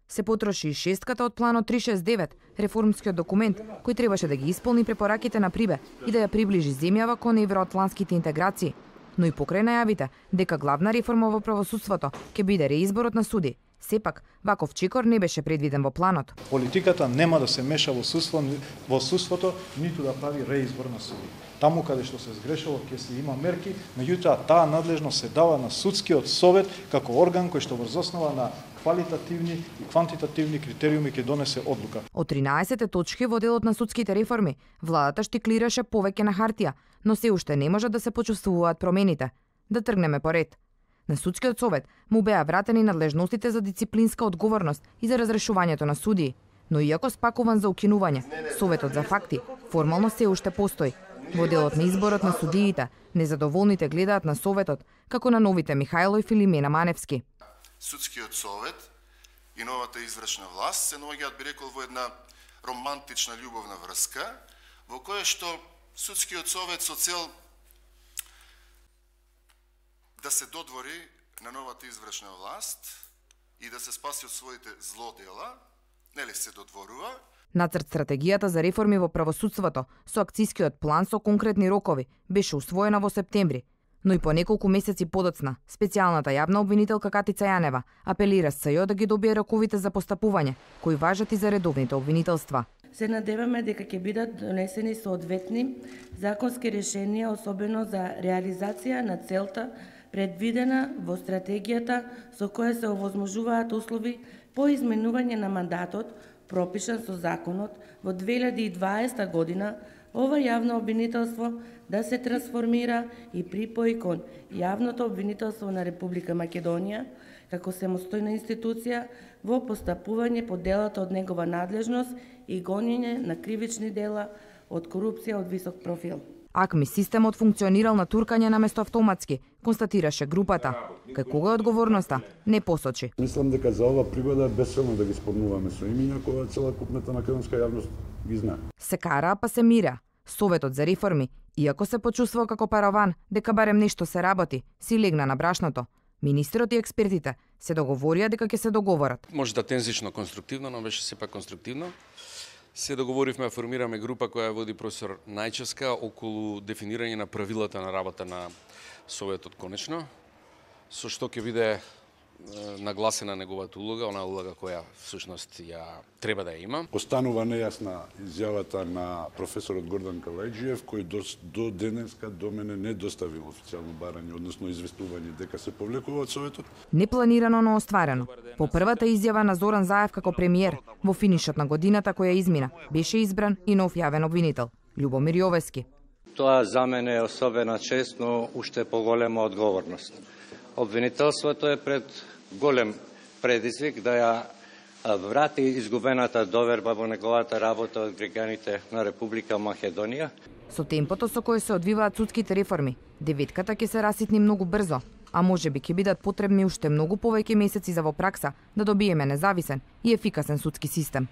Се потроши и шестката од планот 369, реформскиот документ кој требаше да ги исполни препораките на Прибе и да ја приближи земјава кон евроатлантските интеграции, но и покрај најавите дека главна реформа во правосудството ќе биде реизборот на суди. Сепак, ваков чекор не беше предвиден во планот. Политиката нема да се меша во судството, ниту да прави реизбор на суди. Таму каде што се сгрешило ќе се има мерки, меѓутоа таа надлежност се дава на судскиот совет како орган кој што врз основа на квалитативни и квантитативни критериуми ќе донесе одлука. Од 13 точки во делот на судските реформи, владата штиклираше повеќе на хартија, но се уште не може да се почувствуваат промените. Да тргнеме по ред. На судскиот совет му беа вратени надлежностите за дисциплинска одговорност и за разрешувањето на судии, но иако спакуван за укинување, советот за факти формално се уште постои. Во делот на изборот на судиите, незадоволните гледаат на советот како на новите Михајло и Филимена Маневски. Судскиот совет и новата извршна власт се наоѓаат, би рекол, во една романтична љубовна врска, во која што судскиот совет со цел да се додвори на новата извршна власт и да се спаси од своите злодела, нели се додворува. Нацрт стратегијата за реформи во правосудството со акцискиот план со конкретни рокови беше усвоена во септември, но и по неколку месеци подоцна, специјалната јавна обвинителка Катица Јанева апелира СЈО да ги добие роковите за постапување, кои важат и за редовните обвинителства. Се надеваме дека ќе бидат донесени соодветни законски решенија, особено за реализација на целта предвидена во стратегијата со која се овозможуваат услови по изменување на мандатот, пропишан со законот во 2020 година, ова јавно обвинителство да се трансформира и припои кон јавното обвинителство на Република Македонија како самостојна институција во постапување по делата од негова надлежност и гонење на кривични дела од корупција од висок профил. АКМИ системот функционирал на туркање наместо автоматски, констатираше групата. Кај кога е одговорноста, не посочи. Мислам дека за ова пригода е безцелно да ги спомнуваме со имиња која целокупната македонска јавност ги знае. Се кара, па се мира. Советот за реформи, иако се почувствува како параван дека барем нешто се работи, си легна на брашното. Министерот и експертите се договорија дека ќе се договорат. Може да тензично конструктивно, но беше сепак конструктивно. Се договоривме да формираме група која води професор Најчевска околу дефинирање на правилата на работа на Советот конечно, со што ќе биде нагласена неговата улога, она улога која всушност ја треба да ја има. Останува нејасна изјавата на професорот Гордан Калајџиев, кој до денеска до мене не доставил официјално барање, односно известување дека се повлекува од Советот. Непланирано, но остварено. По првата изјава на Зоран Заев како премиер, во финишот на годината која измина, беше избран и нов јавен обвинител, Љубомир Јовески. Тоа за мене е особена чест, но уште поголема одговорност. Обвинителството е пред голем предизвик да ја врати изгубената доверба во неговата работа од граѓаните на Република Македонија. Со темпото со кое се одвиваат судските реформи, деветката ќе се раситни многу брзо, а можеби ќе бидат потребни уште многу повеќе месеци за во пракса да добиеме независен и ефикасен судски систем.